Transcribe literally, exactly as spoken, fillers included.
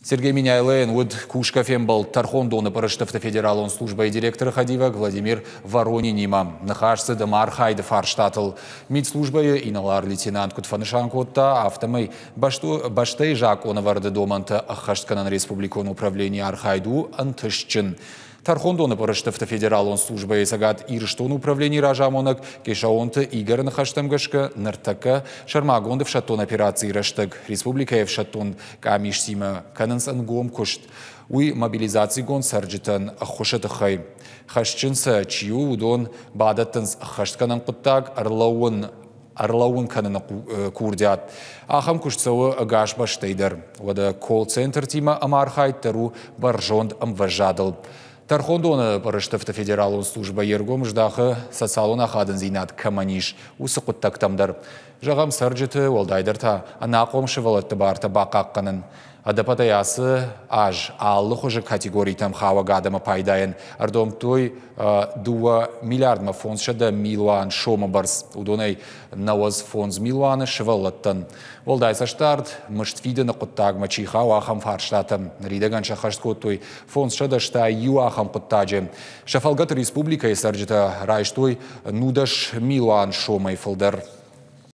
Сергей Меняйлойӕн уыд кусгӕ фембӕлд тӕрхондоны пъырыстыфты федералон службӕйы директоры хӕдивӕг Владимир Воронинимӕ. Ныхас цыд ӕмархайды фарстатыл. Мидслужбӕйы инӕлар-лейтенант куыд фӕнысан кодта, афтӕмӕй бӕстӕйы закъонӕвӕрды домӕнтӕ ӕххӕстгӕнӕн республикон управленийы архайд у ӕнтыстджын. Тӕрхондоны пъырыстыфты федералон службӕйы Цӕгат Ирыстоны управленийы разамонӕг Кешаонты Игоры ныхӕстӕм гӕсгӕ ныртӕккӕ сӕрмагонд ӕфсӕддон операцийы рӕстӕг республикӕйы ӕфсӕддон къамистимӕ кӕнынц ӕнгом куыст. Уый мобилизацигонд цӕрджытӕн ӕххуысы тыххӕй. Хӕсджын сӕ чи у, уыдон бадӕттынц ӕххӕстгӕнӕн хъуыддаг ӕрлӕууын ӕрлӕууын кӕныны курдиат. Ахӕм куыст цӕуы ӕгас бӕстӕй дӕр. Уӕдӕ колл-центртимӕ ӕмархайд дӕр у бӕрзонд ӕмвӕзадыл. Тӕрхондоны пъырыстыфты федералон службӕ йе ргом здахы социалон ахадындзинад кӕмӕн ис, уыцы хъуыддӕгтӕм дӕр. Зӕгъӕм, цӕрджыты, уӕлдайдӕр та ӕнахъом сывӕллӕтты бартӕ бахъахъхъӕнын. Ӕдӕппӕтӕй ацы аз алы хуызы категоритӕм хауӕг адӕмы пайдайӕн ӕрдомдтой дыууӕ миллиардмӕ фондзсӕдӕ милуан сомы бӕрц. Уыдонӕй нӕуӕдз фондз милуаны сывӕллӕттӕн. Уӕлдай цӕстдард мызд фидыны хъуыддагмӕ чи хауы, ахӕм фарстатӕм. Ныридӕгӕн сӕххӕст кодтой фондзсӕдӕ стай иу ахӕм хъуыддаджы. Сӕ фӕлгӕты республикӕйы цӕрджытӕ райстой нудӕс милуан сомӕй фылдӕр.